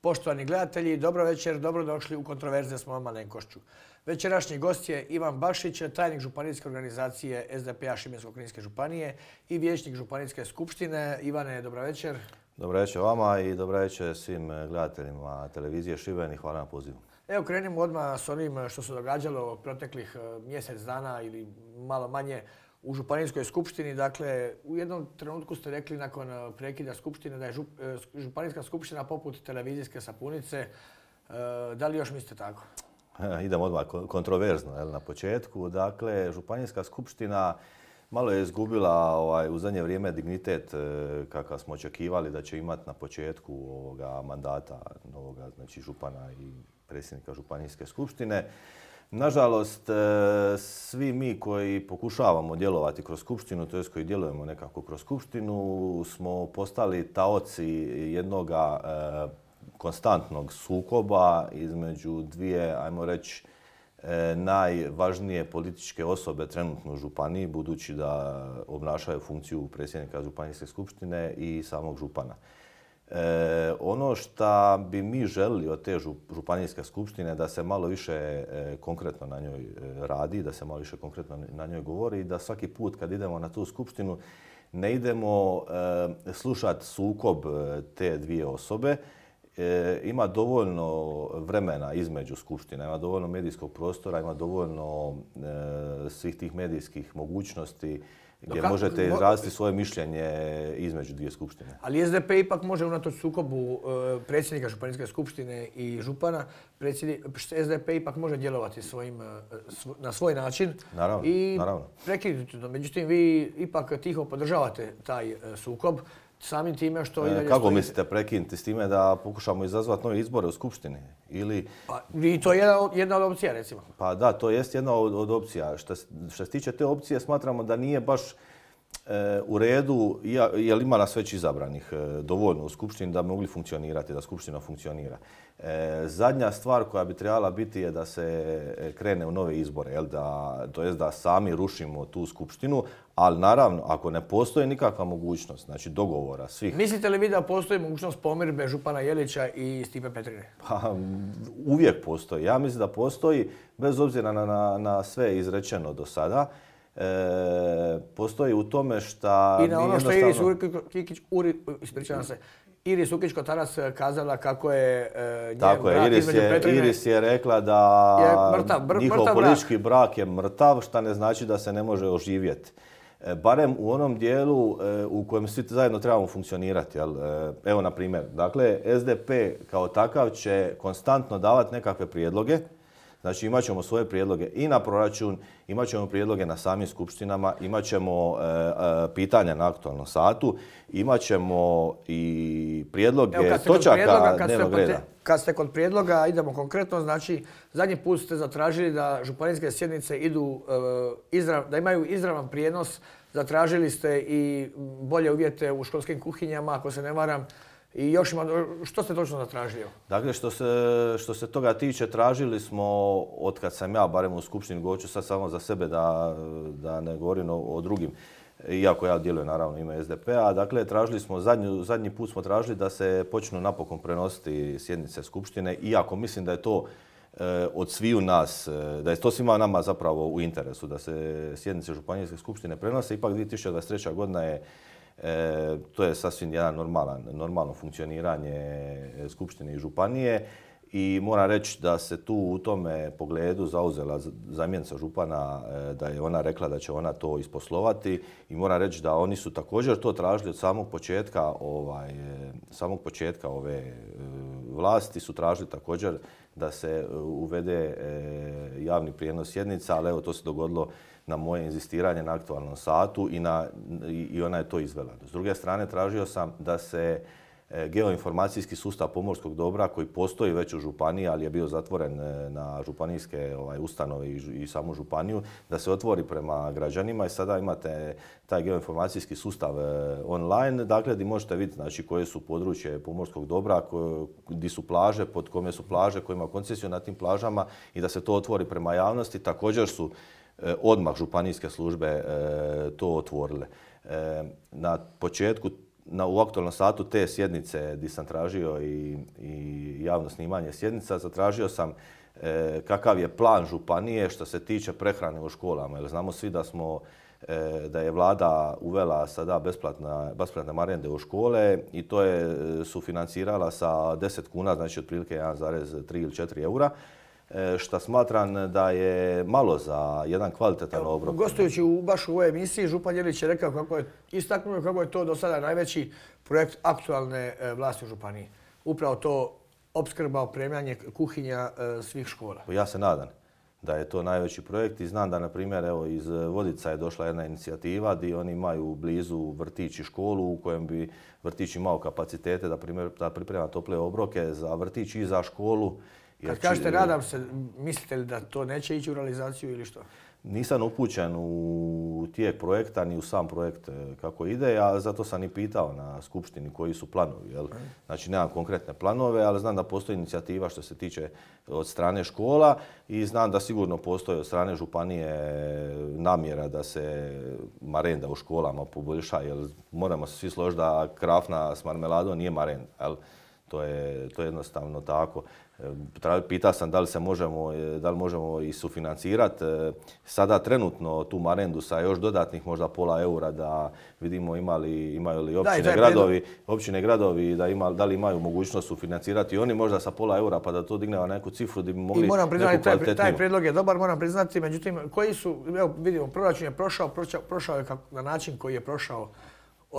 Poštovani gledatelji, dobro večer, dobrodošli u Kontroverze s mojom malenkošću. Večerašnji gost je Ivan Bašić, tajnik županijske organizacije SDP-a Šibensko-kninske županije i vijećnik županijske skupštine. Ivane, dobro večer. Dobro večer vama i dobro večer svim gledateljima televizije Šiben i hvala na pozivu. Evo krenimo odmah s onim što se događalo proteklih mjesec dana ili malo manje u županijskoj skupštini. Dakle, u jednom trenutku ste rekli nakon prekida skupštine da je županijska skupština poput televizijske sapunice. Da li još mislite tako? Idemo odmah kontroverzno na početku. Dakle, županijska skupština malo je izgubila u zadnje vrijeme dignitet kakav smo očekivali da će imati na početku ovoga mandata novoga, znači župana i predsjednika županijske skupštine. Nažalost, svi mi koji pokušavamo djelovati kroz skupštinu, to jest koji djelujemo nekako kroz skupštinu, smo postali taoci jednog konstantnog sukoba između dvije, ajmo reći, najvažnije političke osobe trenutno u županiji, budući da obnašaju funkciju predsjednika županijske skupštine i samog župana. Ono što bi mi želili od te županijske skupštine da se malo više konkretno na njoj radi, da se malo više konkretno na njoj govori i da svaki put kad idemo na tu skupštinu ne idemo slušati sukob te dvije osobe. Ima dovoljno vremena između skupština, ima dovoljno medijskog prostora, ima dovoljno svih tih medijskih mogućnosti gdje možete izraziti svoje mišljenje između dvije skupštine. Ali SDP ipak može unatoč sukobu predsjednika županijske skupštine i župana, SDP ipak može djelovati na svoj način i prekinuti to. Međutim, vi ipak tiho podržavate taj sukob. Samim time što... Kako mislite prekinuti s time da pokušamo izazvati nove izbore u skupštini? I to je jedna od opcija, recimo. Pa da, to jest jedna od opcija. Što se tiče te opcije, smatramo da nije baš u redu, jer ima nas već izabranih dovoljno u skupštini da bi mogli funkcionirati, da skupština funkcionira. Zadnja stvar koja bi trebala biti je da se krene u nove izbore, to jest da sami rušimo tu skupštinu, ali naravno, ako ne postoji nikakva mogućnost, znači dogovora svih... Mislite li vi da postoji mogućnost pomirbe župana Jelića i Stipe Petrine? Pa, uvijek postoji. Ja mislim da postoji, bez obzira na sve izrečeno do sada. Postoji u tome što... I na ono što Iris Ukić-Kotaras kazala kako je njen brak između Petrine... Iris je rekla da njihov politički brak je mrtav, što ne znači da se ne može oživjeti. Barem u onom dijelu u kojem svi zajedno trebamo funkcionirati. Evo, na primjer, dakle, SDP kao takav će konstantno davati nekakve prijedloge. Znači imat ćemo svoje prijedloge i na proračun, imat ćemo prijedloge na samim skupštinama, imat ćemo pitanja na aktualnom satu, imat ćemo i prijedloge točaka dnevnog reda. Kad ste kod prijedloga, idemo konkretno, znači zadnji put ste zatražili da županijske sjednice da imaju izravan prijenos, zatražili ste i bolje uvjete u školskim kuhinjama, ako se ne varam. I još što ste točno zatražili? Dakle, što se toga tiče, tražili smo, otkad sam ja, barem u skupštini, govorit ću sad samo za sebe da ne govorim o drugim, iako ja djelujem naravno ime SDP-a, dakle, zadnji put smo tražili da se počnu napokon prenositi sjednice skupštine, iako mislim da je to od sviju nas, da je to svima nama zapravo u interesu, da se sjednice županijske skupštine prenose. Ipak 2023. godina je to je sasvim jedan normalno funkcioniranje skupštine i županije i moram reći da se tu u tome pogledu zauzela zamjenica župana, da je ona rekla da će ona to isposlovati i moram reći da oni su također to tražili od samog početka ove vlasti, su tražili također da se uvede javni prijenos sjednica, ali evo to se dogodilo na moje inzistiranje na aktualnom satu i ona je to izvela. S druge strane, tražio sam da se geoinformacijski sustav pomorskog dobra koji postoji već u županiji, ali je bio zatvoren na županijske ustanove i samu županiju, da se otvori prema građanima i sada imate taj geoinformacijski sustav online, dakle gdje možete vidjeti znači, koje su područje pomorskog dobra, gdje su plaže, pod kome su plaže, ko ima koncesiju na tim plažama i da se to otvori prema javnosti. Također su odmah županijske službe to otvorile. Na početku, u aktualnom satu te sjednice gdje sam tražio i javno snimanje sjednica, zatražio sam kakav je plan županije što se tiče prehrane u školama. Jer znamo svi da je vlada uvela sada besplatne marende u škole i to je sufinancirala sa 10 kuna, znači otprilike 1,3 ili 4 eura. Što smatram da je malo za jedan kvalitetan obrok. Gostujući baš u ovoj emisiji, župan Jelić je rekao istaknuo kako je to do sada najveći projekt aktualne vlasti u županiji. Upravo to opskrba, opremanje kuhinja svih škola. Ja se nadam da je to najveći projekt i znam da, na primjer, evo, iz Vodica je došla jedna inicijativa gdje oni imaju blizu vrtić i školu u kojem bi vrtić imao kapacitete da priprema tople obroke za vrtić i za školu. Kad kažete nadam se, mislite li da to neće ići u realizaciju ili što? Nisam upućen u tijek projekta ni u sam projekt kako ide, a zato sam i pitao na skupštini koji su planovi. Jel? Znači nemam konkretne planove, ali znam da postoji inicijativa što se tiče od strane škola i znam da sigurno postoji od strane županije namjera da se marenda u školama poboljša, jer moramo se svi složiti da krafna s marmeladom nije marenda. Jel? To je jednostavno tako. Pitao sam da li možemo i sufinancirati sada trenutno tu marendu sa još dodatnih možda pola eura da vidimo imaju li općine, gradovi da li imaju mogućnost sufinancirati i oni možda sa pola eura pa da to digne na neku cifru da bi mogli neku kvalitetniju. Taj prijedlog je dobar, moram priznati, međutim koji su, evo vidimo, proračun je prošao je na način koji je prošao.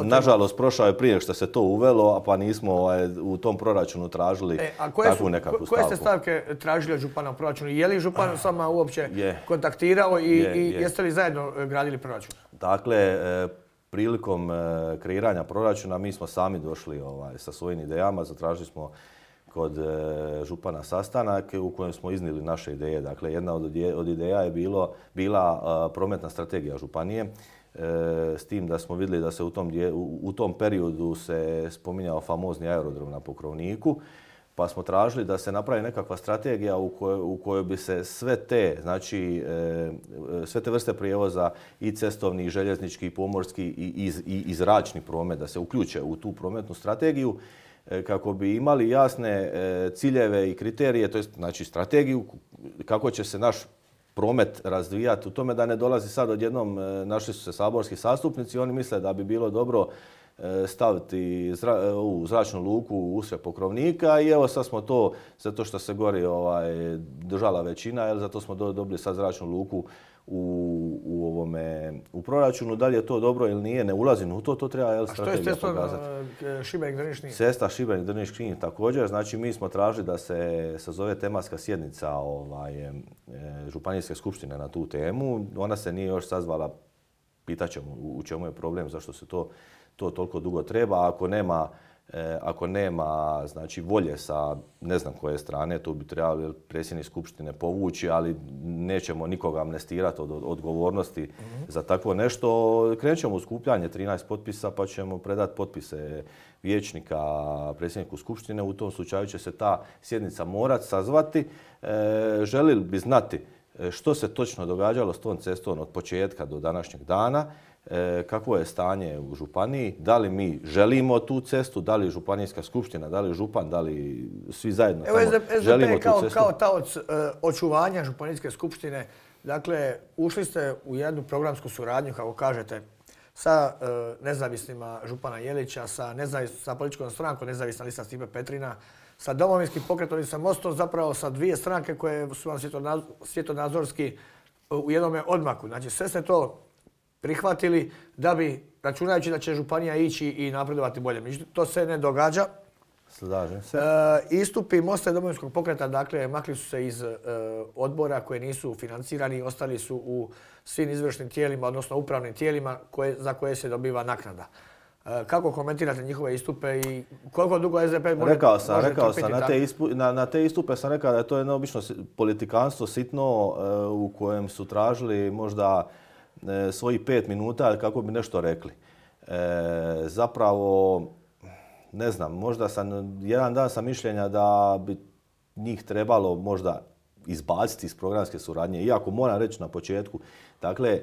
Nažalost, prošao je prije što se to uvelo, pa nismo u tom proračunu tražili takvu nekakvu stavku. Koje ste stavke tražili od župana u proračunu? Je li župan s vama uopće kontaktirao i jeste li zajedno gradili proračun? Dakle, prilikom kreiranja proračuna mi smo sami došli sa svojim idejama. Zatražili smo kod župana sastanak u kojem smo iznijeli naše ideje. Dakle, jedna od ideja je bila prometna strategija županije. S tim da smo vidjeli da se u tom periodu se spominjao famozni aerodrom na Pokrovniku, pa smo tražili da se napravi nekakva strategija u kojoj bi se sve te vrste prijevoza i cestovni, i željeznički, i pomorski i zračni promet da se uključe u tu prometnu strategiju kako bi imali jasne ciljeve i kriterije, to jest znači strategiju kako će se naš promet razvijati u tome da ne dolazi sad odjednom, našli su se saborski zastupnici i oni misle da bi bilo dobro staviti u zračnu luku usred Pokrovnika i evo sad smo to, zato što se gori držala većina, zato smo dobili sad zračnu luku u proračunu. Da li je to dobro ili nije, ne ulazim u to treba strategija pokazati. A što je cesta Šibenik-Drniš-Knin? Cesta Šibenik-Drniš-Knin također. Znači mi smo tražili da se sazove tematska sjednica županijske skupštine na tu temu. Ona se nije još sazvala, pitat ćemo u čemu je problem, zašto se to toliko dugo treba. Ako nema znači, volje sa ne znam koje strane, tu bi trebali predsjednik skupštine povući, ali nećemo nikoga amnestirati od odgovornosti za takvo nešto. Krenut ćemo u skupljanje 13 potpisa pa ćemo predati potpise vijećnika predsjedniku skupštine. U tom slučaju će se ta sjednica morati sazvati. Želili bi znati što se točno događalo s tom cestom od početka do današnjeg dana, kakvo je stanje u županiji, da li mi želimo tu cestu, da li županijska skupština, da li župan, da li svi zajedno želimo tu cestu. SDP kao taoc očuvanja županijske skupštine, dakle, ušli ste u jednu programsku suradnju, kako kažete, sa nezavisnima župana Jelića, sa političkom strankom Nezavisna lista Stipe Petrina, sa Domovinskim pokretom i sa Mostom, zapravo sa dvije stranke koje su vam svjetonazorski u jednome odmaku. Znači, sve ste to prihvatili da bi, računajući da će županija ići i napredovati bolje. Međutim, to se ne događa. Slažem se. Istupi Mosta i Domovinskog pokreta, dakle, makli su se iz odbora koje nisu financirani, ostali su u svim izvršnim tijelima, odnosno upravnim tijelima za koje se dobiva naknada. Kako komentirate njihove istupe i koliko dugo SDP može Rekao sam, na te istupe sam rekao da je to jedno obično politikanstvo sitno u kojem su tražili možda svojih 5 minuta kako bi nešto rekli. Zapravo, ne znam, možda jedan dan sam mišljenja da bi njih trebalo možda izbaciti iz programske suradnje. Iako moram reći na početku, dakle,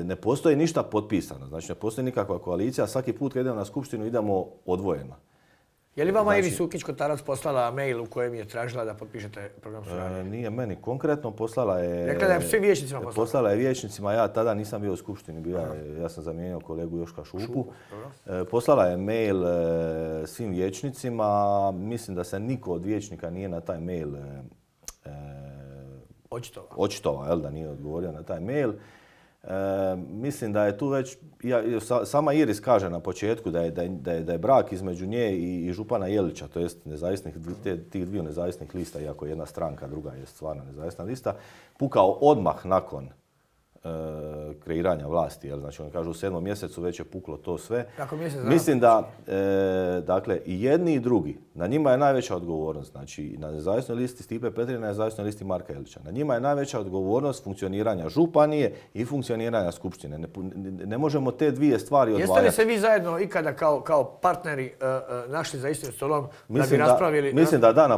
ne postoji ništa potpisano. Znači, ne postoji nikakva koalicija. Svaki put kad idemo na skupštinu idemo odvojeno. Je li vama Iris Sukić-Kotarac poslala mail u kojem je tražila da potpišete program suradnje? Nije meni konkretno, poslala je... Rekla da je svim vijećnicima poslala? Poslala je vijećnicima, ja tada nisam bio u skupštini, ja sam zamijenio kolegu Joška Šupu. Poslala je mail svim vijećnicima, mislim da se niko od vijećnika nije na taj mail očitovao, da nije odgovorio na taj mail. Mislim da je tu već, sama Iris kaže na početku da je brak između nje i župana Jelića, to jest tih dviju nezavisnih lista, iako jedna stranka, druga je stvarno nezavisna lista, pukao odmah nakon kreiranja vlasti. Znači, oni kažu u 7. mjesecu već je puklo to sve. Mislim da, dakle, i jedni i drugi, na njima je najveća odgovornost. Znači, na nezavisnoj listi Stipe Petrina, na nezavisnoj listi Marka Jelića. Na njima je najveća odgovornost funkcioniranja županije i funkcioniranja skupštine. Ne možemo te dvije stvari odvajati. Jeste li se vi zajedno ikada kao partneri našli za istim stolom da bi raspravili? Mislim da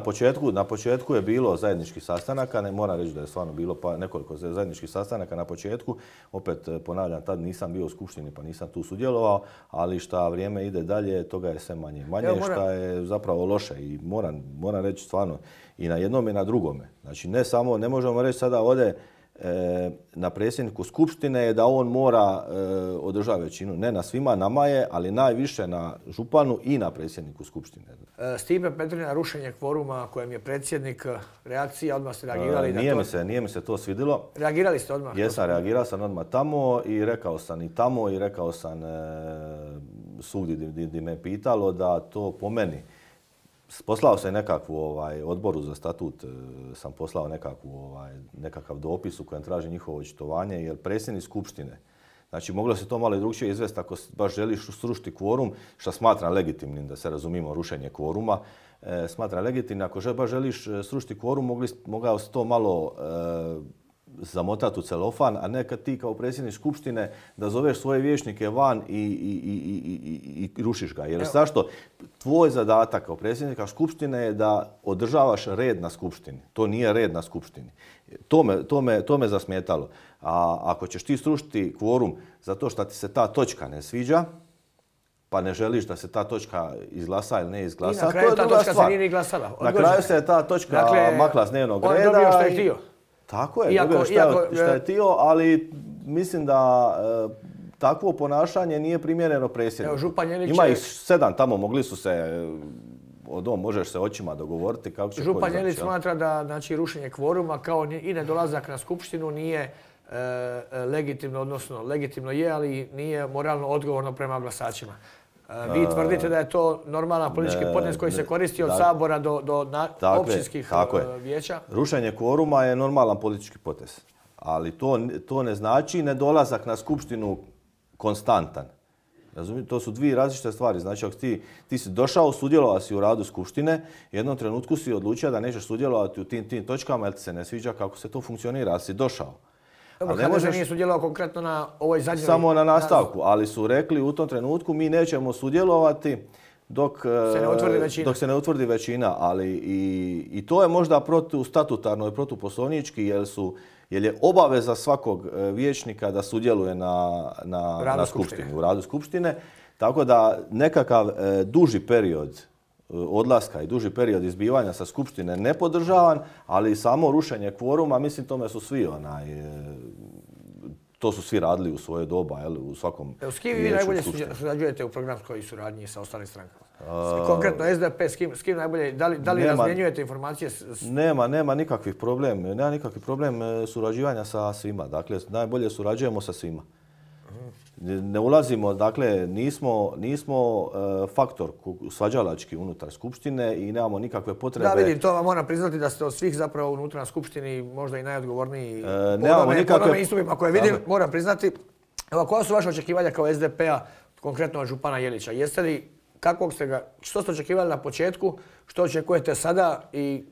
na početku je bilo zajedničkih sastanaka. Ne moram reći da je stvarno bilo nekoliko zajedničkih sastanaka na početku. Opet ponavljam, tad nisam bio u skupštini pa nisam tu sudjelovao, ali šta vrijeme ide dalje, toga je sve manje. Manje šta je zapravo loše i moram reći stvarno i na jednom i na drugome. Znači ne možemo reći sada ovdje na predsjedniku skupštine je da on mora održati većinu. Ne na svima, nama je, ali najviše na županu i na predsjedniku skupštine. Stipe Petrina, rušenje kvoruma kojem je predsjednik, reakcija, odmah ste reagirali? Nije mi se to svidjelo. Reagirali ste odmah? Jesam, reagirao sam odmah tamo i rekao sam i tamo i rekao sam svugdje gdje me pitalo da to po meni. Poslao sam nekakvu odboru za statut, sam poslao nekakav dopis u kojem traži njihovo očitovanje, jer predsjednik skupštine, znači moglo se to malo i drugčije izvesti ako baš želiš srušiti kvorum, što smatram legitimnim, da se razumimo, rušenje kvoruma, smatram legitimnim. Ako baš želiš srušiti kvorum, mogao se to malo zamotati u celofan, a ne kad ti kao predsjednik skupštine da zoveš svoje vijećnike van i rušiš ga. Jer zašto? Tvoj zadatak kao predsjednika skupštine je da održavaš red na skupštini. To nije red na skupštini. To me zasmetalo. A ako ćeš ti srušiti kvorum zato što ti se ta točka ne sviđa, pa ne želiš da se ta točka izglasa ili ne izglasa, to je druga stvar. I na kraju ta točka se nije ni glasala. Na kraju se ta točka makla s dnevnog reda. On je dobio što je htio. Tako je, dobio što je htio, ali mislim da takvo ponašanje nije primjereno predsjedniku. Ima ih 7 tamo, mogli su se, možeš se očima dogovoriti kako će... Župan Jelić smatra da rušenje kvoruma kao i nedolazak na skupštinu nije legitimno, odnosno legitimno je, ali nije moralno odgovorno prema glasačima. Vi tvrdite da je to normalan politički potez koji se koristi od Sabora do općinskih vijeća? Rušenje kvoruma je normalan politički potez, ali to ne znači nedolazak na skupštinu konstantan. Razumijete? To su dvije različite stvari. Znači, ako ti si došao, sudjelovao si u radu skupštine, u jednom trenutku si odlučio da nećeš sudjelovati u tim točkama jer ti se ne sviđa kako se to funkcionira, ali si došao. Dobro, HDZ nije sudjelovao konkretno na ovoj zadnjoj... Samo na nastavku, ali su rekli u tom trenutku mi nećemo sudjelovati dok se ne utvrdi većina. Ali i to je možda protustatutarno i protuposlovnički jer je obaveza svakog vijećnika da sudjeluje na skupštini, u radu skupštine. Tako da nekakav duži period odlaska i duži period izbivanja sa skupštine ne podržavan, ali samo rušenje kvoruma, mislim tome su svi to su svi radili u svoje doba, u svakom vijeću. S kim vi najbolje surađujete u programskoj suradnji sa ostalim strankama? Konkretno SDP, s kim najbolje, da li razmjenjujete informacije? Nema nikakvih problem surađivanja sa svima. Dakle, najbolje surađujemo sa svima. Ne ulazimo, dakle, nismo faktor svađalački unutar skupštine i nemamo nikakve potrebe... Da, vidim, to vam moram priznati da ste od svih zapravo unutar na skupštini možda i najodgovorniji po onome istupima koje vidim, moram priznati. Evo, koja su vaše očekivanja kao SDP-a, konkretno od župana Jelića? Jeste li, što ste očekivali na početku, što očekujete sada i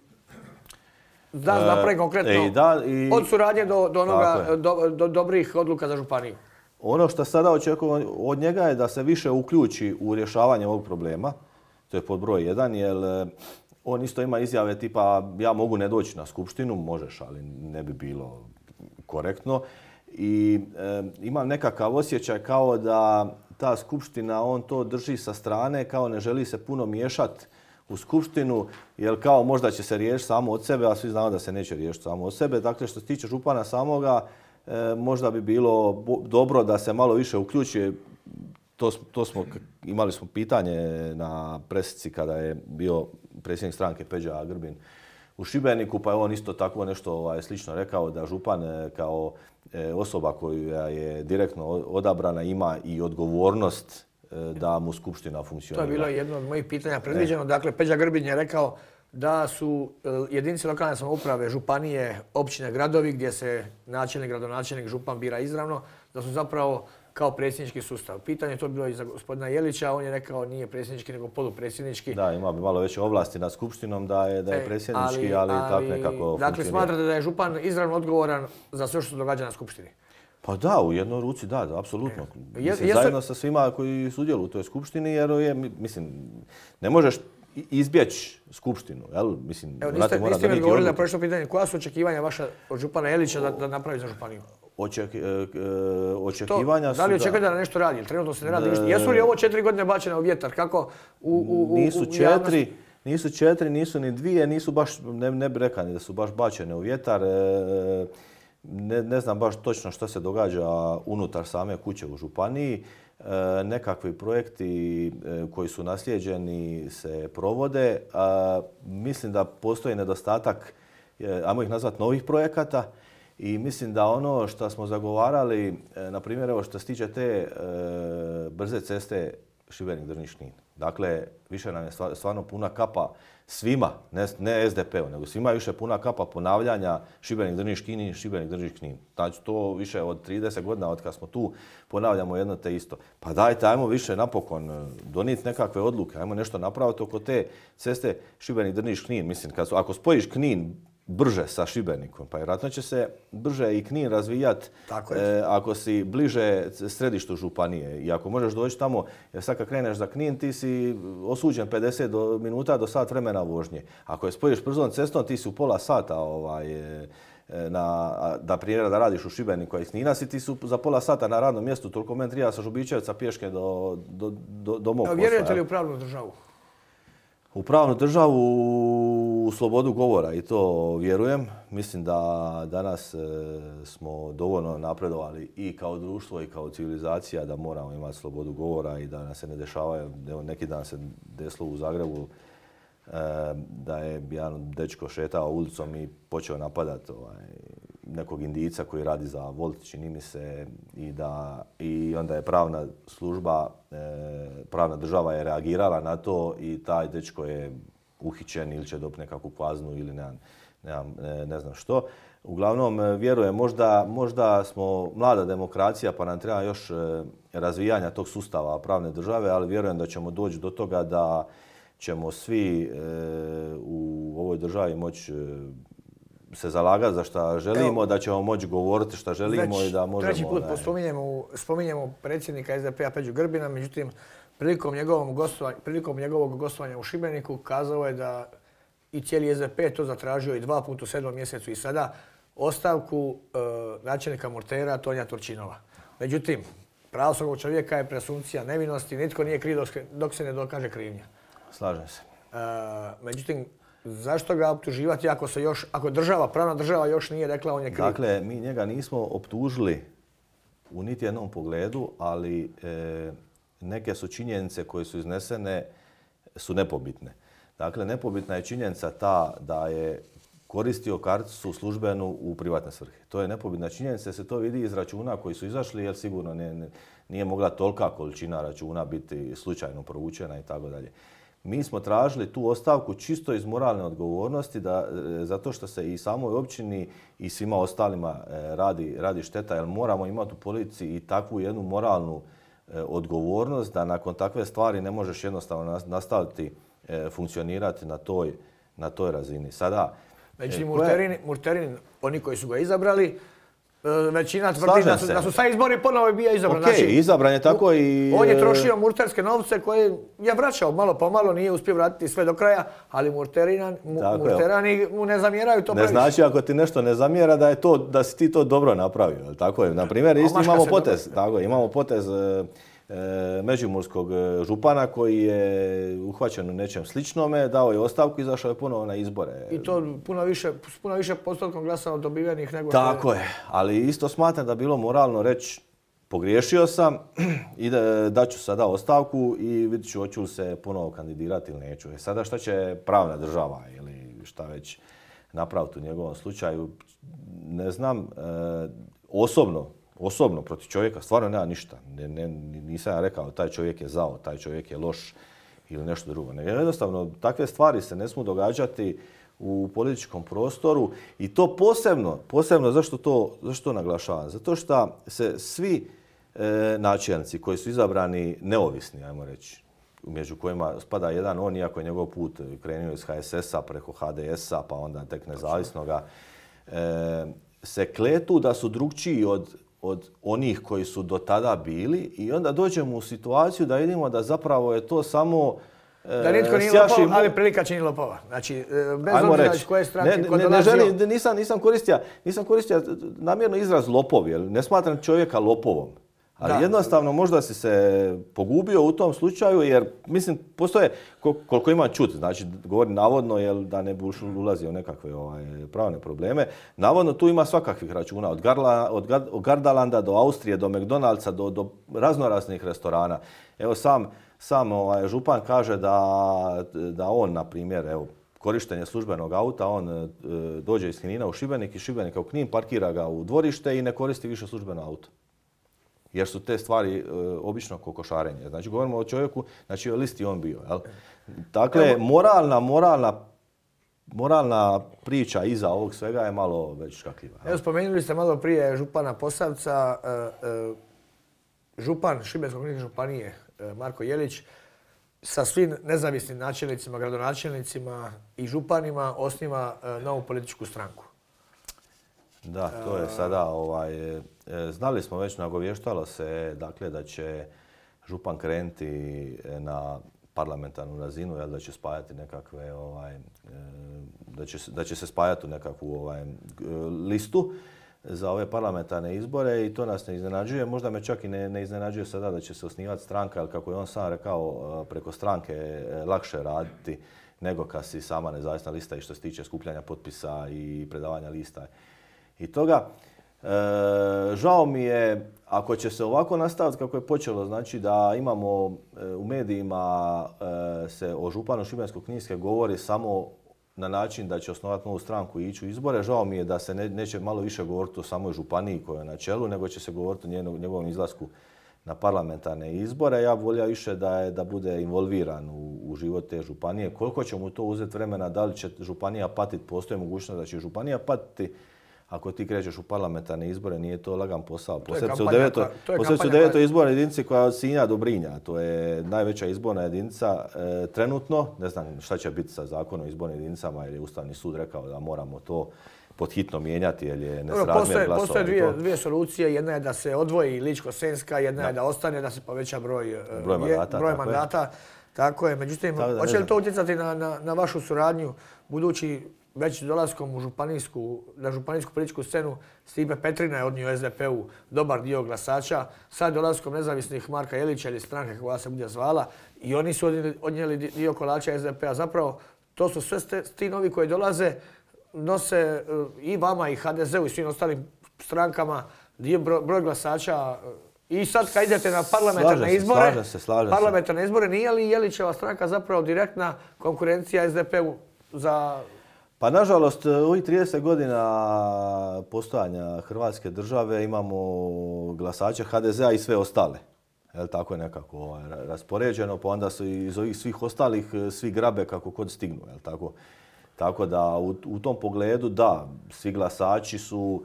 da napravi konkretno od suradnje do dobrih odluka za županiju? Ono što sada očekujemo od njega je da se više uključi u rješavanje ovog problema. To je pod broj 1, jer on isto ima izjave tipa ja mogu ne doći na skupštinu, možeš, ali ne bi bilo korektno. I imam nekakav osjećaj kao da ta skupština, on to drži sa strane, kao ne želi se puno miješati u skupštinu, jer kao možda će se riješiti samo od sebe, a svi znamo da se neće riješiti samo od sebe. Dakle, što se tiče župana samoga, možda bi bilo dobro da se malo više uključi. Imali smo pitanje na presici kada je bio predsjednik stranke Peđa Grbin u Šibeniku, pa je on isto tako nešto slično rekao da župan kao osoba koja je direktno odabrana ima i odgovornost da mu skupština funkcionira. To je bilo jedno od mojih pitanja predviđeno. Dakle, Peđa Grbin je rekao da su jedinice lokalne samouprave, županije, općine, gradovi gdje se načelnik, gradonačelnik, župan bira izravno, da su zapravo kao predsjednički sustav. Pitanje je to bilo i za gospodina Jelića, on je rekao nije predsjednički nego polupredsjednički. Da, ima bi malo veće ovlasti nad skupštinom da je predsjednički, ali tako nekako funkcionira. Dakle, smatrate da je župan izravno odgovoran za sve što se događa na skupštini? Pa da, u jednoj ruci da, apsolutno. Zajedno sa svima koji sudjeluju u toj skupštini, jer ne možeš izbjeći skupštinu. Evo, niste mi odgovorili na prošlo pitanje. Koja su očekivanja vaša od župana Jelića da napravi za županiju? Očekivanja su da li očekujete da nešto radi? Trenutno se ne radi ništa. Jesu li ovo 4 godine bačene u vjetar? Kako Nisu 4, nisu ni 2, nisu baš, ne bi rekao ni da su baš bačene u vjetar. Ne znam baš točno što se događa unutar same kuće u županiji. Nekakvi projekti koji su naslijeđeni se provode. Mislim da postoji nedostatak, ajmo ih nazvati, novih projekata. I mislim da ono što smo zagovarali, na primjer, evo što se tiče te brze ceste Šibenik-Drniš-Knin. Dakle, više nam je stvarno puna kapa svima, ne SDP-u, nego svima više puna kapa ponavljanja Šibenik-Drniš-Knin, Šibenik-Drniš-Knin. Znači, to više od 30 godina od kad smo tu ponavljamo jedno te isto. Pa dajte, ajmo više napokon donijeti nekakve odluke, ajmo nešto napraviti oko te ceste Šibenik-Drniš-Knin. Mislim, ako spojiš Knin brže sa Šibenikom, pa vjerojatno će se brže i Knin razvijati ako si bliže središtu županije. I ako možeš doći tamo, jer sad kad kreneš za Knin, ti si osuđen 50 minuta do sat vremena vožnje. Ako je spojiš brzom cestom, ti si u pola sata da primjera da radiš u Šibeniku, a iz Knina ti su za pola sata na radnom mjestu, toliko meni treba sa Žubičevca pješke do mog posla. Vjerujete li u pravnu državu? U pravnu državu, u slobodu govora i to vjerujem. Mislim da danas smo dovoljno napredovali i kao društvo i kao civilizacija da moramo imati slobodu govora i da nas se ne dešavaju. Evo, neki dan se desilo u Zagrebu da je jedan dečko šetao ulicom i počeo napadati nekog Indijca koji radi za Volt, čini mi se, i onda je pravna služba, pravna država je reagirala na to i taj dečko je uhićen ili će dobiti nekakvu kaznu ili ne znam što. Uglavnom, vjerujem, možda smo mlada demokracija pa nam treba još razvijanja tog sustava pravne države, ali vjerujem da ćemo doći do toga da ćemo svi u ovoj državi moći se zalagati za šta želimo, da ćemo moći govoriti šta želimo i da možemo... Treći put spominjemo predsjednika SDP-a Peđu Grbina, međutim, prilikom njegovog gostovanja u Šibeniku kazao je da i cijeli SDP to zatražio i 2 puta u 7. mjesecu i sada ostavku načelnika Murtera Tonija Turčinova. Međutim, pravo svakog čovjeka je presumpcija nevinosti, nitko nije kriv dok se ne dokaže krivnja. Slažem se. Međutim, zašto ga optuživati ako pravna država još nije rekla on je kriv? Dakle, mi njega nismo optužili u niti jednom pogledu, ali neke su činjenice koje su iznesene su nepobitne. Dakle, nepobitna je činjenica ta da je koristio karticu službenu u privatne svrhe. To je nepobitna činjenica, se to vidi iz računa koji su izašli, jer sigurno nije mogla tolika količina računa biti slučajno provučena i tako dalje. Mi smo tražili tu ostavku čisto iz moralne odgovornosti, zato što se i samoj općini i svima ostalima radi šteta, jer moramo imati u policiji i takvu jednu moralnu odgovornost da nakon takve stvari ne možeš jednostavno nastaviti funkcionirati na toj razini. Sada, znači, Murterin, oni koji su ga izabrali, većina tvrdi da su sad izbori ponovo bio izabran. Okej, izabran je tako i... On je trošio murterske novce koje je vraćao malo po malo, nije uspio vratiti sve do kraja, ali murterani mu ne zamjeraju to previše. Ne znači ako ti nešto ne zamjera da si ti to dobro napravio. Tako je. Na primjer, isto imamo potez međimurskog župana koji je uhvaćen u nečem sličnome, dao je ostavku i izašao je ponovo na izbore. I to puno više postotkom glasova dobivenih nego... Tako je, ali isto smatram da bilo moralno reći pogriješio sam i daću sada ostavku i vidit ću hoću li se ponovo kandidirati ili neću. Sada šta će pravna država ili šta već napraviti u njegovom slučaju, ne znam, osobno protiv čovjeka stvarno nema ništa. Nisam ja rekao taj čovjek je zao, taj čovjek je loš ili nešto drugo. Jednostavno, takve stvari se ne smiju događati u političkom prostoru i to posebno zašto to naglašavam? Zato što se svi načelnici koji su izabrani neovisni, ajmo reći, među kojima spada jedan on, iako je njegov put krenuo iz HSS-a preko HDS-a pa onda tek nezavisnoga, se kletu da su drukčiji od onih koji su do tada bili i onda dođemo u situaciju da vidimo da zapravo je to samo da nitko nije lopov, ali prilika čini lopova. Znači, bez obzira iz koje stranke ko dolazio... Nisam koristio namjerno izraz lopov, jer ne smatram čovjeka lopovom. Ali jednostavno možda si se pogubio u tom slučaju jer, mislim, postoje, koliko imam čut, znači govorim navodno, jer da ne bi ulazio u nekakve pravne probleme, navodno tu ima svakakvih računa, od Gardalanda do Austrije, do McDonald'sa, do raznoraznih restorana. Evo sam župan kaže da on, na primjer, evo, korištenje službenog auta, on dođe iz Knina u Šibenik, iz Šibenika u Knin, parkira ga u dvorište i ne koristi više službeno auto. Jer su te stvari obično kokošarenje. Znači, govorimo o čovjeku, znači o listi on bio. Jel? Dakle, moralna priča iza ovog svega je malo već škakljiva. Evo, spomenuli ste malo prije župana Posavca. Župan Šibensko-kninske županije, Marko Jelić, sa svim nezavisnim načelnicima, gradonačelnicima i županima osniva novu političku stranku. Da, to je sada, znali smo već, nagovještalo se dakle, da će župan krenuti na parlamentarnu razinu, jel, da će spajati nekakve, da će se spajati u nekakvu listu za ove parlamentarne izbore i to nas ne iznenađuje. Možda me čak i ne iznenađuje sada da će se osnivati stranka, ali kako je on sam rekao, preko stranke je lakše raditi nego kad si sama nezavisna lista i što se tiče skupljanja potpisa i predavanja lista i toga. Žao mi je, ako će se ovako nastaviti kako je počelo, znači da imamo u medijima se o županu Šibensko-kninske govori samo na način da će osnovati novu stranku i ići u izbore. Žao mi je da se neće malo više govoriti o samoj županiji koja je na čelu, nego će se govoriti o njegovom izlasku na parlamentarne izbore. Ja bih volio više da bude involviran u život te županije. Koliko će mu to uzeti vremena, da li će županija patiti, postoji mogućnost da će županija patiti. Ako ti krećeš u parlamentarne izbore, nije to lagan posao. Posebice u 9. izbornoj jedinici koja je od Sinja do Brinja. To je najveća izborna jedinica trenutno. Ne znam šta će biti sa zakonom o izbornim jedinicama, jer je Ustavni sud rekao da moramo to podhitno mijenjati, jer je nesrazmjer glasova. Postoje dvije solucije. Jedna je da se odvoji Ličko-senjska, jedna je da ostane, da se poveća broj mandata. Tako je. Međutim, hoće li to utjecati na vašu suradnju, budući već dolaskom na županijsku političku scenu Stipe Petrina je odnio SDP-u dobar dio glasača. Sad dolaskom nezavisnih Marka Jelića ili stranke koja se bude zvala i oni su odnijeli dio kolača SDP-a. Zapravo, to su sve ti novi koji dolaze, nose i vama i HDZ-u i svim ostalim strankama dio broj glasača. I sad kad idete na parlamentarne izbore, nije li Jelićeva stranka zapravo direktna konkurencija SDP-u za... Pa nažalost, u ovih 30 godina postojanja Hrvatske države imamo glasače HDZ-a i sve ostale. Jel, tako je nekako raspoređeno, pa onda su iz ovih svih ostalih svi grabe kako kod stignu. Jel, tako? Tako da u tom pogledu da, svi glasači su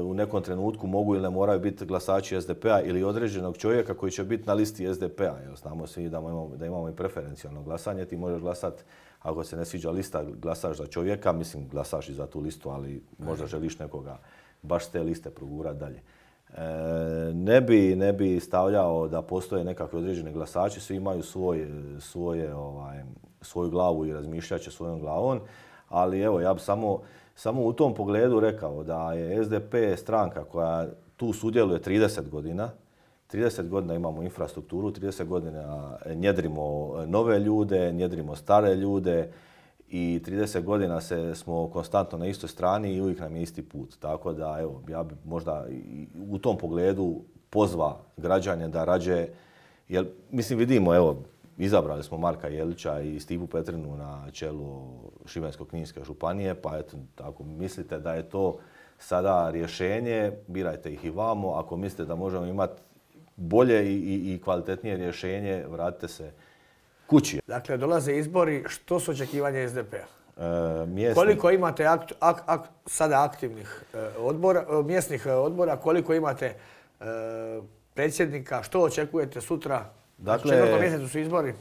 u nekom trenutku mogu ili ne moraju biti glasači SDP-a ili određenog čovjeka koji će biti na listi SDP-a. Znamo svi da imamo i preferencijalno glasanje, ti možeš glasati. Ako se ne sviđa lista, glasaš za čovjeka, mislim glasaš i za tu listu, ali možda želiš baš te liste progurati dalje. Ne bi stavljao da postoje nekakvi određeni glasači, svi imaju svoju glavu i razmišljat će svojom glavom, ali evo, ja bi samo u tom pogledu rekao da je SDP stranka koja tu sudjeluje 30 godina. 30 godina imamo infrastrukturu, 30 godina njedrimo nove ljude, njedrimo stare ljude i 30 godina smo konstantno na istoj strani i uvijek nam je isti put. Tako da, evo, ja bi možda u tom pogledu pozvao građane da rađe, jer mislim vidimo, evo, izabrali smo Marka Jelića i Stipu Petrinu na čelu Šibensko-kninske županije, pa eto, ako mislite da je to sada rješenje, birajte ih i vamo. Ako mislite da možemo imati bolje i kvalitetnije rješenje, vratite se kući. Dakle, dolaze izbori, što su očekivanja SDP-a? Mjesni... Koliko imate sada aktivnih mjesnih odbora, koliko imate predsjednika, što očekujete sutra? Dakle, u 4. mjesecu su izbori.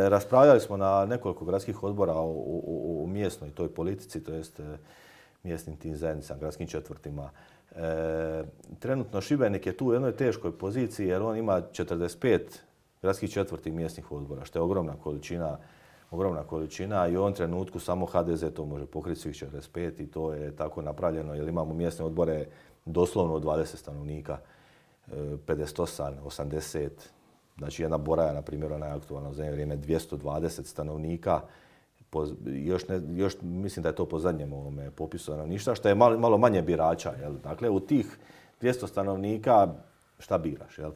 Raspravljali smo na nekoliko gradskih odbora o mjesnoj toj politici, to jest mjesnim tim zajednicama, gradskim četvrtima. Trenutno Šibenik je tu u jednoj teškoj poziciji jer on ima 45 gradskih četvrti mjesnih odbora, što je ogromna količina i u ovom trenutku samo HDZ to može pokriti svih 45 i to je tako napravljeno jer imamo mjesne odbore doslovno od 20 stanovnika, 58, 80, znači jedna Boraja, na primjer, ona je aktualna u zadnje vrijeme 220 stanovnika, još mislim da je to po zadnjem ovome popisu stanovništva, što je malo manje birača. Jel? Dakle, u tih 200 stanovnika šta biraš? Jel?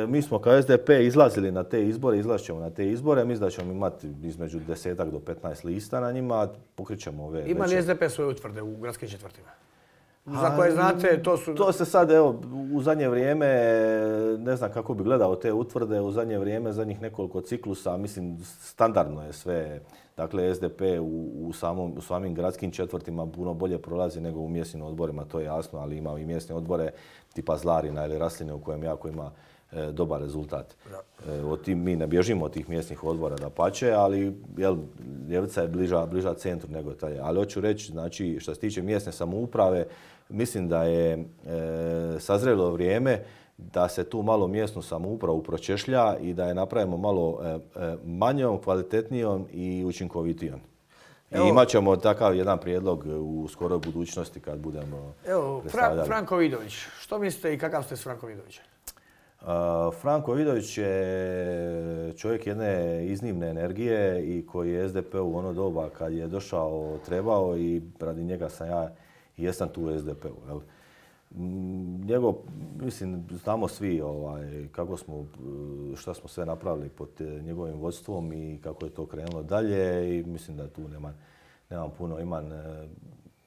Mi smo kao SDP izlazili na te izbore, izlazit ćemo na te izbore, mislim da ćemo imati između 10 do 15 lista na njima, pokrićemo ove... Ima li SDP svoje utvrde u gradskim četvrtima? Za koje znate, to su... To se sad, evo, u zadnje vrijeme, ne znam kako bi gledao te utvrde, u zadnje vrijeme, zadnjih nekoliko ciklusa, mislim, standardno je sve. Dakle, SDP u samim gradskim četvrtima puno bolje prolazi nego u mjesnim odborima, to je jasno, ali ima i mjesne odbore tipa Zlarina ili Rasline u kojem jako ima dobar rezultat. Mi ne bježimo od tih mjesnih odbora dapače, ali ljevica je bliža centru nego taj. Ali hoću reći, znači, što se tiče mjesne samouprave, mislim da je sazrelo vrijeme da se tu malo mjesnu samoupravu pročešlja i da je napravimo malo manjom, kvalitetnijom i učinkovitijom. I imat ćemo takav jedan prijedlog u skoroj budućnosti kad budemo predstavljali. Franko Vidović, što mislite i kakav ste s Frankom Vidovićem? Franko Vidović je čovjek jedne iznimne energije i koji je SDP u ono doba kad je došao trebao i radi njega sam ja i jesam tu u SDP-u. Njegov, mislim, znamo svi šta smo sve napravili pod njegovim vodstvom i kako je to krenulo dalje i mislim da tu nemam puno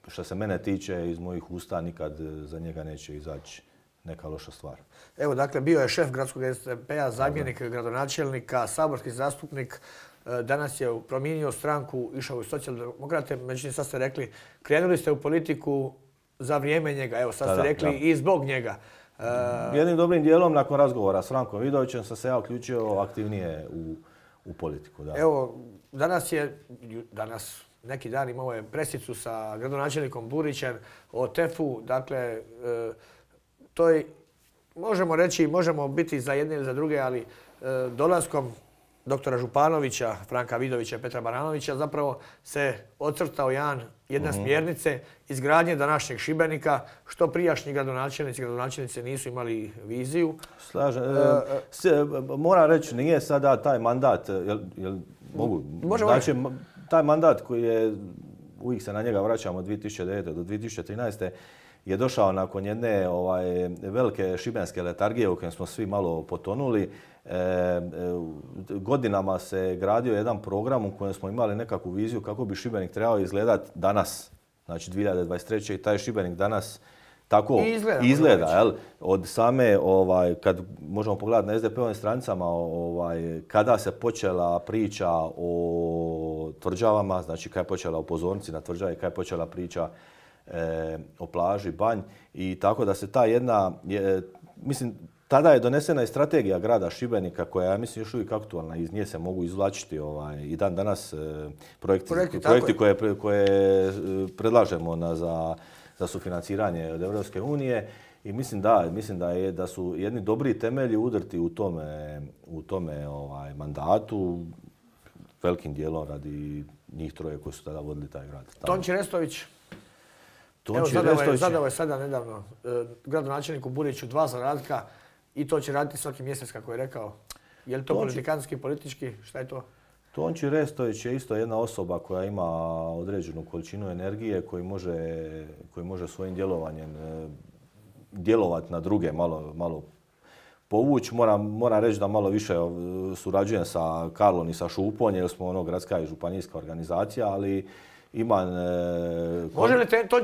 što se mene tiče, iz mojih usta nikad za njega neće izaći neka loša stvar. Evo, dakle, bio je šef gradskog SDP-a, zamjenik gradonačelnika, saborski zastupnik. Danas je promijenio stranku, išao u socijaldemokrate. Međutim, sad ste rekli, krenuli ste u politiku za vrijeme njega. Evo, sad ste rekli i zbog njega. Jednim dobrim dijelom, nakon razgovora s Frankom Vidovićem, sam se ja uključio aktivnije u politiku. Da. Evo, danas neki dan imao je presicu sa gradonačelnikom Burićem o TEF-u. Dakle, to je, možemo reći, možemo biti za jedne ili za druge, ali dolaskom doktora Županovića, Franka Vidovića i Petra Baranovića zapravo se ocrtao jedna smjernice izgradnje današnjeg Šibenika, što prijašnji gradonačelnici nisu imali viziju. Slažem. Moram reći, nije sada taj mandat, znači, taj mandat koji je, uvijek se na njega vraćamo od 2009. do 2013. je došao nakon jedne velike šibenske letargije u kojem smo svi malo potonuli. Godinama se gradio jedan program u kojem smo imali nekakvu viziju kako bi Šibenik trebao izgledati danas, znači 2023. i taj Šibenik danas tako izgleda. Jel? Od same, kad možemo pogledati na SDP-ovim stranicama, kada se počela priča o tvrđavama, znači kada je počela o pozornici na tvrđavi, kada je počela priča o plaži, banj i tako da se ta jedna, mislim, tada je donesena i strategija grada Šibenika koja je, mislim, još uvijek aktualna. Iz nje se mogu izvlačiti i dan danas projekti koje predlažemo za sufinanciranje od Europske unije. I mislim da su jedni dobri temelji udrti u tome mandatu, velikim dijelom radi njih troje koji su tada vodili taj grad. Tonči Restović. Zadao je sada nedavno gradonačelniku Buriću 2 zadatka i to će raditi svaki mjesec, kako je rekao. Je li to politikanski, politički? Šta je to? Tonči Restović je isto jedna osoba koja ima određenu količinu energije, koji može svojim djelovanjem djelovati na druge, malo povući. Moram reći da malo više surađujem sa Karlom i sa Šupom, jer smo gradska i županijska organizacija, ali imam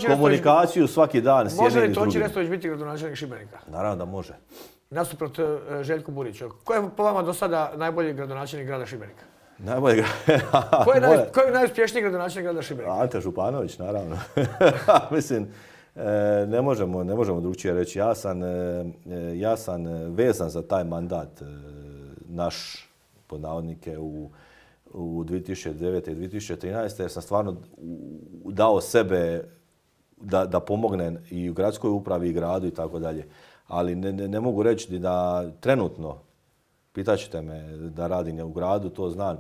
komunikaciju svaki dan s jednim i s drugim. Može li Tonči Restović biti gradonačelnik Šibenika? Naravno da može. Nasuprot Željku Buriću. Ko je po vama do sada najbolji gradonačelnik grada Šibenika? Najbolji Ko je najuspješniji gradonačelnik grada Šibenika? Ante Županović, naravno. Mislim, ne možemo drugčije reći. Ja sam vezan za taj mandat naš, pod navodnike, u 2009. i 2013. jer sam stvarno dao sebe da pomognem i u gradskoj upravi i gradu i tako dalje. Ali ne mogu reći da trenutno, pitat ćete me da radim u gradu, to znam.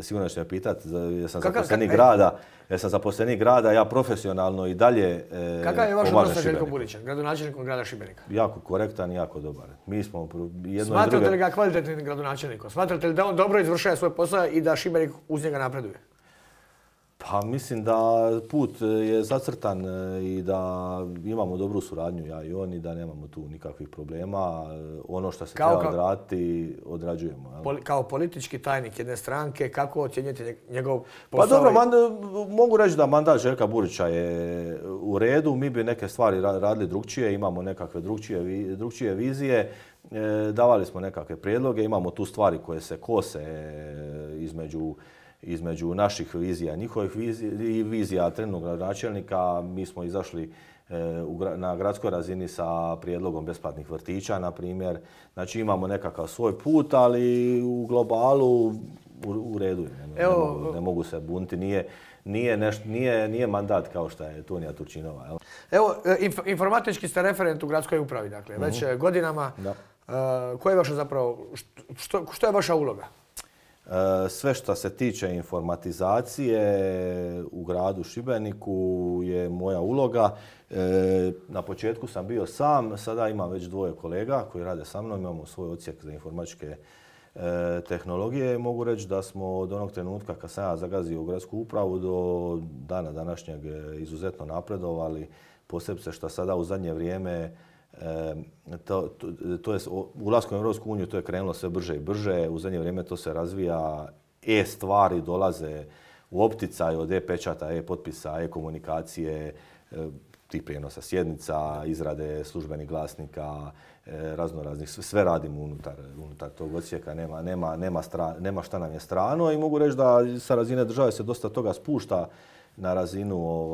Sigurno ćete me pitati jer sam zaposlenik grada, ja profesionalno i dalje pomažem. Kakav je vaš odnos sa Željkom Burićem, gradonačelnikom grada Šibenika? Jako korektan i jako dobar. Smatrate li ga kvalitetnim gradonačelnikom? Smatrate li da on dobro izvršava svoj posao i da Šibenik uz njega napreduje? Pa mislim da put je zacrtan i da imamo dobru suradnju, ja i on, i da nemamo tu nikakvih problema. Ono što se treba odraditi, odrađujemo. Kao politički tajnik jedne stranke, kako ocjenjujete njegov posao? Pa dobro, mogu reći da mandat Željka Burića je u redu. Mi bi neke stvari radili drugčije, imamo nekakve drugčije vizije. Davali smo nekakve prijedloge, imamo tu stvari koje se kose između naših vizija, njihovih vizija trenutnog gradonačelnika. Mi smo izašli na gradskoj razini sa prijedlogom besplatnih vrtića, na primjer. Znači imamo nekakav svoj put, ali u globalu u redu. Ne mogu se buniti. Nije mandat kao što je Tunija Turčinova. Jel? Evo, informatički ste referent u gradskoj upravi, dakle, već godinama. Koja je vaša zapravo, što je vaša uloga? Sve što se tiče informatizacije u gradu Šibeniku je moja uloga. Na početku sam bio sam, sada imam već 2 kolega koji rade sa mnom, imamo svoj odsjek za informatičke tehnologije. Mogu reći da smo od onog trenutka kad sam ja zagazio u gradsku upravu do dana današnjeg izuzetno napredovali, posebice što sada u zadnje vrijeme to je ulaskom u Europsku uniju to je krenulo sve brže i brže. U zadnje vrijeme to se razvija, stvari dolaze u opticaj od e-pečata, e-potpisa, e-komunikacije, tih prijenosa sjednica, izrade službenih glasnika, raznoraznih. Sve radimo unutar tog odsjeka, nema šta nam je strano i mogu reći da sa razine države se dosta toga spušta na razinu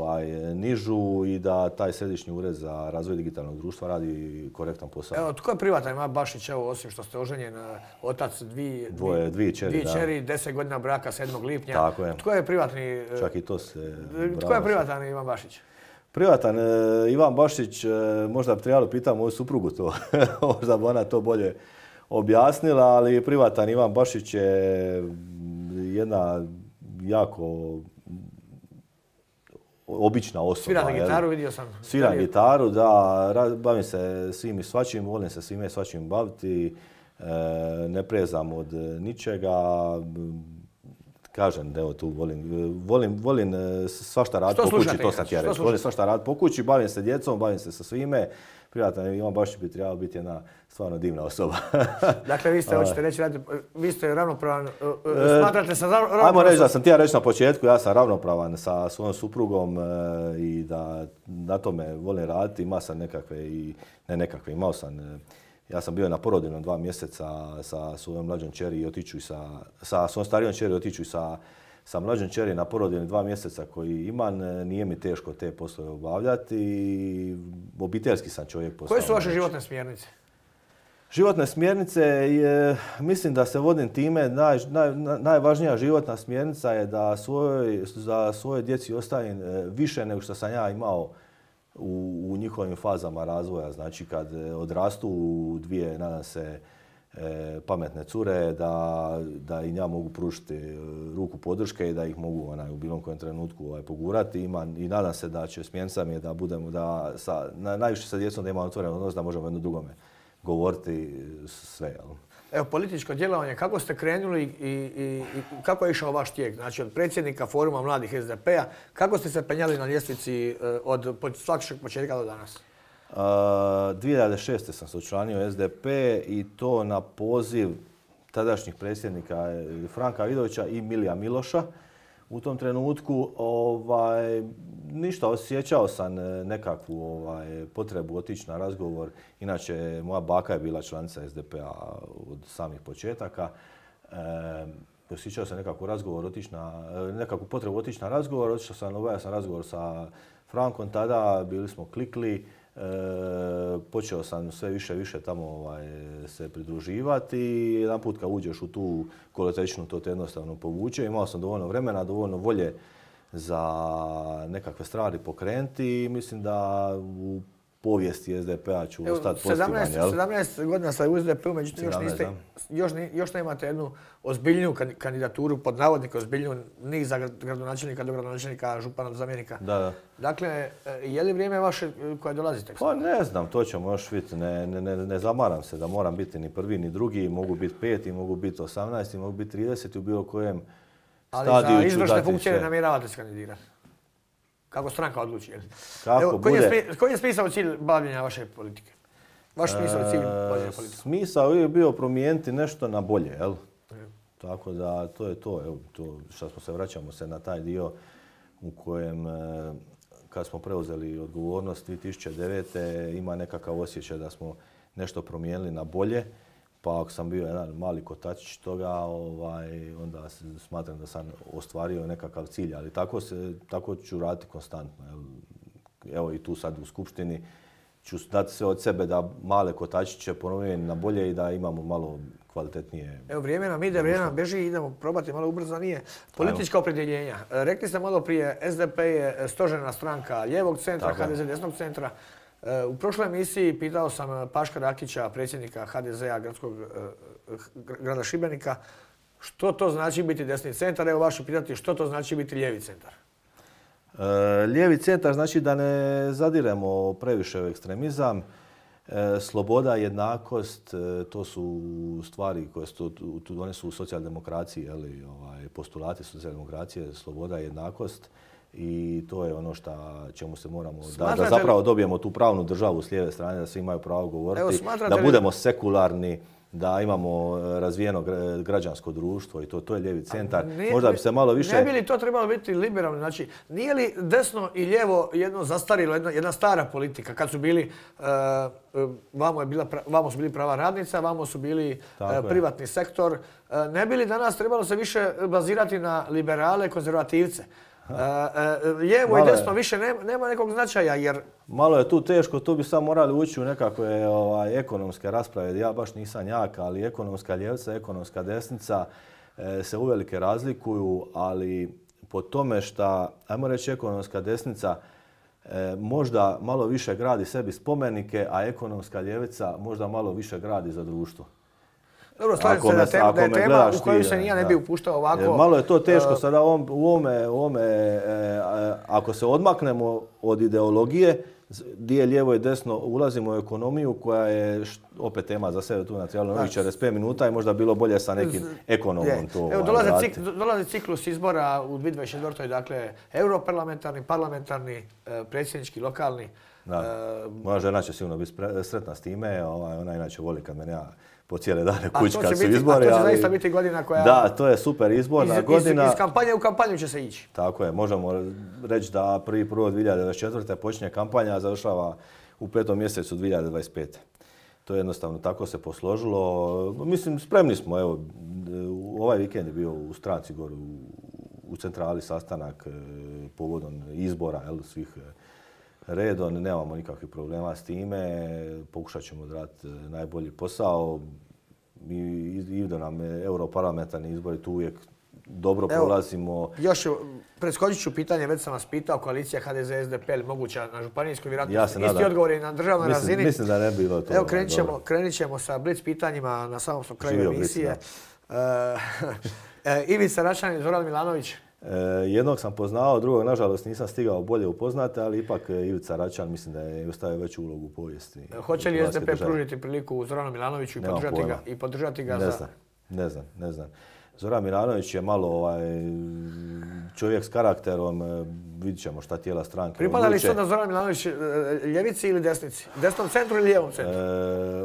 nižu i da taj središnji ured za razvoj digitalnog društva radi korektan posao. Evo, tko je privatan? Ima Bašić, evo, osim što ste oženjen, otac dvije čeri, 10 godina braka 7. lipnja. Tako je. Tko je privatni? Čak i to se... Tko je privatan Ivan Bašić? Privatan Ivan Bašić, možda bi trebalo pitati moju suprugu to, možda bi ona to bolje objasnila, ali privatan Ivan Bašić je jedna jako obična osoba. Svira na gitaru, vidio sam. Svira gitaru, da, bavim se svim i svačim, volim se svime i svačim baviti, ne prezam od ničega. Kažem da evo tu volim svašta raditi po kući, to sam ti ja reći. Volim svašta raditi po kući, bavim se djecom, bavim se sa svime. Privatan Ivan Bašić bi trebao biti jedna stvarno divna osoba. Dakle, vi ste, hoćete reći, vi ste ravnopravan, smatrate se ravnopravan? Ajmo reći da sam ti ja reći na početku, ja sam ravnopravan sa svojom suprugom i da na tome volim raditi. Imao sam imao sam. Ja sam bio na porodiljnom 2 mjeseca sa svojom mlađom kćeri i otiću sa svojom starijom kćeri otiću sa mlađom kćeri na porodiljne 2 mjeseca koji imam. Nije mi teško te poslove obavljati. Obiteljski sam čovjek. Koje su vaše životne smjernice? Životne smjernice, mislim da se vodim time, najvažnija životna smjernica je da za svoje djeci ostavim više nego što sam ja imao u njihovim fazama razvoja. Znači kad odrastu u dvije, nadam se, pametne cure, da i ja mogu pružiti ruku podrške i da ih mogu u bilo kojem trenutku pogurati. I nadam se da će smjernica mi je da budemo, najviše sa djecom da imamo otvoren odnos, da možemo jedno drugome govoriti sve. Jel? Evo, političko djelovanje, kako ste krenuli i kako je išao vaš tijek? Znači, od predsjednika Foruma mladih SDP-a, kako ste se penjali na ljestvici od svakog početka do danas? 2006. sam se učlanio SDP i to na poziv tadašnjih predsjednika Franka Vidovića i Milija Miloša. U tom trenutku ništa, osjećao sam nekakvu potrebu otići na razgovor. Inače, moja baka je bila članica SDP-a od samih početaka. Osjećao sam nekakvu potrebu otići na razgovor. Otišao sam, obavio sam razgovor sa Frankom tada, bili smo klikli. Počeo sam sve više tamo se pridruživati i jedan put kad uđeš u tu kolotečnu to te jednostavno povuče. Imao sam dovoljno vremena, dovoljno volje za nekakve stvari pokrenuti i mislim da u povijesti SDP-a ću ostati pozitivan. 17 godina ste u SDP-u, međutim još nemate jednu ozbiljniju kandidaturu, pod navodnike ozbiljniju, ni za gradonačelnika, do gradonačelnika, župana, do zamjenika. Da. Dakle, je li vrijeme vaše koje dolazite? Pa ne znam, to ćemo još vidjeti. Ne zamaram se da moram biti ni prvi ni drugi, mogu biti 5, mogu biti 18, mogu biti 30 u bilo kojem stadiju ću dati. Ali za izvršne funkcije ne namjeravate se kandidirati? Kako stranka odluči? Koji je smisao cilj bavljenja vaše politike? Vaš smisao cilj bavljenja politike? Smisao je bio promijeniti nešto na bolje, jel? Tako da to je to. Evo, to što vraćamo se na taj dio u kojem kad smo preuzeli odgovornost 2009. ima nekakav osjećaj da smo nešto promijenili na bolje. Pa ako sam bio jedan mali kotačić toga, onda smatram da sam ostvario nekakav cilj. Ali tako ću raditi konstantno. Evo i tu sad u skupštini ću dati sve od sebe da male kotačiće promijenim na bolje i da imamo malo kvalitetnije. Evo, vrijeme nam ide, vrijeme nam beži, idemo probati malo ubrzanije. Politička opredjeljenja. Rekli ste malo prije, SDP je stožerna stranka lijevog centra, HDZ desnog centra. U prošloj emisiji pitao sam Paška Rakića, predsjednika HDZ-a grada Šibenika, što to znači biti desni centar. Evo vaše pitati što to znači biti lijevi centar. Lijevi centar znači da ne zadiremo previše u ekstremizam. Sloboda, jednakost, to su stvari koje one su u socijaldemokraciji, postulati socijaldemokracije, sloboda, jednakost. I to je ono čemu se moramo, da zapravo dobijemo tu pravnu državu s lijeve strane, da svi imaju pravo govoriti, da budemo sekularni, da imamo razvijeno građansko društvo i to je lijevi centar. Možda bi se malo više... Ne bi li to trebalo biti liberalno? Znači, nije li desno i lijevo jedno zastarilo, jedna stara politika, kad su bili, vamo su bili prava radnica, vamo su bili privatni sektor. Ne bi li danas trebalo se više bazirati na liberale, konzervativce? Lijevo i desno više nema nekog značaja jer... Malo je tu teško, tu bi sad morali ući u nekakve ekonomske rasprave. Ja baš nisam jak, ali ekonomska ljevica, ekonomska desnica se uvelike razlikuju, ali po tome što, ajmo reći, ekonomska desnica možda malo više gradi sebi spomenike, a ekonomska ljevica možda malo više gradi za društvo. Dobro, slažem se da je tema u koju se ne bi upuštao ovako. Malo je to teško sada u ovome, ako se odmaknemo od ideologije, gdje je lijevo i desno, ulazimo u ekonomiju koja je opet tema za sebe tu na trebalo novih 45 minuta i možda bilo bolje sa nekim ekonomom to raditi. Dolazi ciklus izbora u 2024. Dakle, europarlamentarni, parlamentarni, predsjednički, lokalni. Moja žena će sigurno biti sretna s time, ona inače voli kad mene po cijele dane kući kad su izbori. A to će zaista biti godina koja... Da, to je super izborna godina. Iz kampanje u kampanju će se ići. Tako je, možemo reći da 1.1.2024. počinje kampanja, a završava u 5. mjesecu 2025. To je jednostavno tako se posložilo. Mislim, spremni smo. Evo, ovaj vikend je bio u stranci gore u centrali sastanak povodom izbora svih redom, nemamo nikakvih problema s time, pokušat ćemo odraditi najbolji posao. Idu nam europarlamentarni izbori, tu uvijek dobro prolazimo. Još preskočit ću pitanje, već sam vas pitao, koalicija HDZ-SDP moguća na županijskoj vjerojatnosti. Isti odgovor je na državnoj razini. Mislim da ne bi bilo to. Evo, krenit ćemo sa blic pitanjima na samom kraju emisije. Ivica Račan i Zoran Milanović. Jednog sam poznao, drugog nažalost nisam stigao bolje upoznati, ali ipak Ivica Račan mislim da je ostavio veću ulogu u povijesti. Hoće li SDP pružiti priliku Zoranu Milanoviću i podržati ga za... Ne znam. Zoran Milanović je malo čovjek s karakterom, vidit ćemo šta tijela stranke. Pripada li sada Zoran Milanović ljevici ili desnici? Desnom centru ili lijevom centru?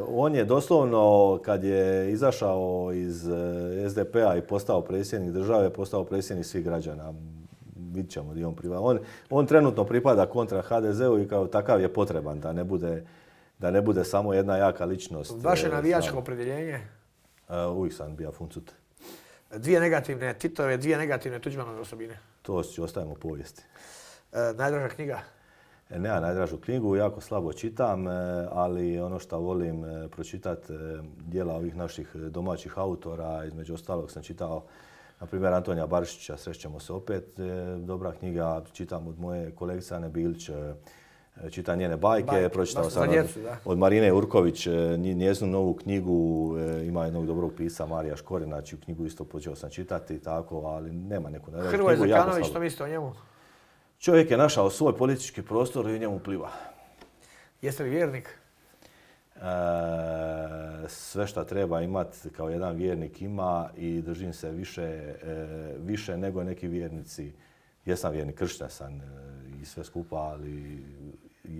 On je doslovno, kad je izašao iz SDP-a i postao predsjednik države, postao predsjednik svih građana. Vidit ćemo gdje on pripada. On trenutno pripada kontra HDZ-u i kao takav je potreban da ne bude samo jedna jaka ličnost. Vaše navijačko opredjeljenje? Uvijek sam bio Funcut. Dvije negativne Titove, dvije negativne Tuđmanove osobine. To ostavimo u povijesti. Najdraža knjiga? Nemam najdražu knjigu, jako slabo čitam, ali ono što volim pročitati djela ovih naših domaćih autora, između ostalog sam čitao na primjer Antonija Barišića, Srećemo se opet, dobra knjiga, čitam od moje kolegice Ane Bilić, čitam njene bajke, pročitao sam od Marine Urković njezinu novu knjigu, ima jednog dobrog pisa Marija Škorina, čiju knjigu isto počeo sam čitati, tako, ali nema neku najdražu knjigu. Hrvoje Zekanović, što mislite o njemu? Čovjek je našao svoj politički prostor i u njemu pliva. Jeste li vjernik? Sve što treba imati kao jedan vjernik ima i držim se više nego neki vjernici. Jesam vjernik, kršćan sam i sve skupa, ali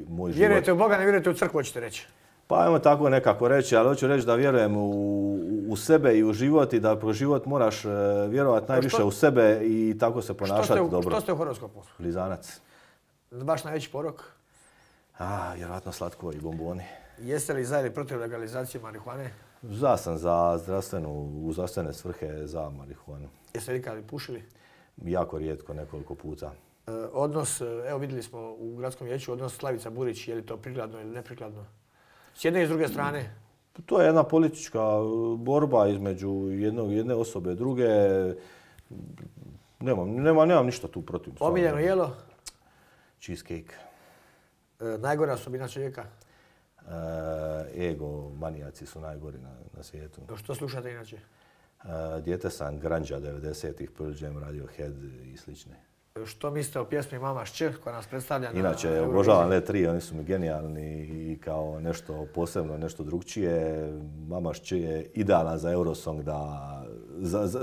moj život... Vjerujete u Boga, ne vjerujete u crkvu, hoćete reći? Pa ajmo tako nekako reći, ali hoću reći da vjerujem u sebe i u život i da pro život moraš vjerovati najviše u sebe i tako se ponašati dobro. Što ste u horoskopu? Blizanac. Vaš najveći porok? Vjerojatno slatko i bomboni. Jeste li za ili protiv legalizacije marihuane? Za sam za u zdravstvene svrhe za marihuanu. Jeste li ikad pušili? Jako rijetko, nekoliko puta. Odnos, evo vidjeli smo u gradskom vijeću, odnos Slavica Burić, je li to prikladno ili neprikladno? S jedne i s druge strane? To je jedna politička borba između jedne osobe i druge. Nemam ništa tu protiv. Omiljeno jelo? Cheesecake. Najgora osobina čovjeka? Ego, manijaci su najgori na svijetu. Što slušate inače? Dijete sam Grunge 90-ih, Pearl Jam, Radiohead i slične. Što mislite o pjesmi Mama Šće koja nas predstavlja na... Inače, obožavam Let 3, oni su mi genijalni i kao nešto posebno, nešto drugčije. Mama Šće je idealan za Eurosong,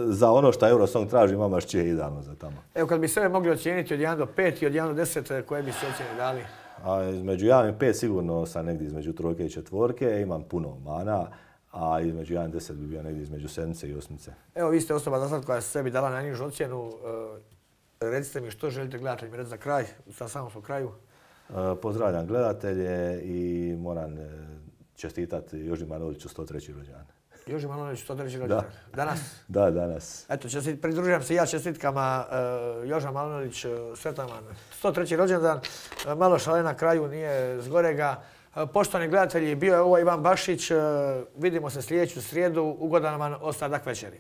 za ono što Eurosong traži, Mama Šće je idealno za tamo. Evo, kad bi sebe mogli ocijeniti od 1 do 5 i od 1 do 10, koje bi se ocjene dali? Između 1 i 5 sigurno sam negdje između 3 i 4, imam puno mana. A između 1 i 10 bi bio negdje između 7 i 8. Evo, vi ste osoba za sad koja je sebi dala najnižu ocjenu. Recite mi što želite gledateljima reći za kraj, sa samom smo kraju. Pozdravljam gledatelje i moram čestitati Joži Manoliću 103. rođendan. Joži Manoliću 103. rođendan? Danas? Da, danas. Eto, pridružujem se ja čestitkama Joža Manolić, sretan vam 103. rođendan. Malo šale na kraju, nije zgorega. Poštovani gledatelji, bio je ovo Ivan Bašić. Vidimo se sljedeću srijedu. Ugodan vam ostatak večeri.